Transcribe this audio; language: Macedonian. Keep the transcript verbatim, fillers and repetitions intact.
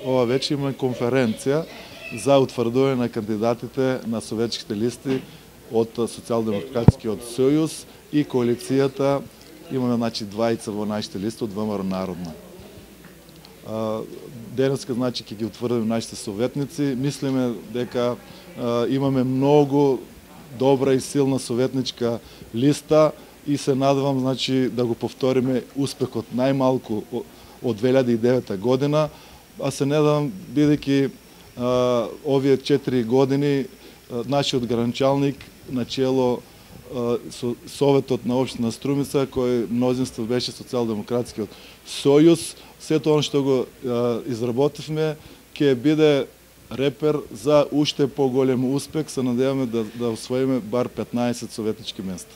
ова вече имаме конференција за утврдување на кандидатите на советските листи од Социјалдемократскиот сојуз и коалицијата. Имаме значи двајца во нашите листи од ВМРО Народна. Денеска значи ќе ги утврдиме нашите советници. Мислиме дека имаме многу добра и силна советничка листа и се надевам значи да го повториме успехот најмалку од две илјади и девета година, а се надевам бидејќи овие четири години нашиот гранчалник начело со Советот на општина Струмица, кој мнозинство беше Социјалдемократскиот сојуз, сето она што го изработивме ќе биде репер за уште поголем успех. Се надеваме да, да освоиме бар петнаесет советнички места.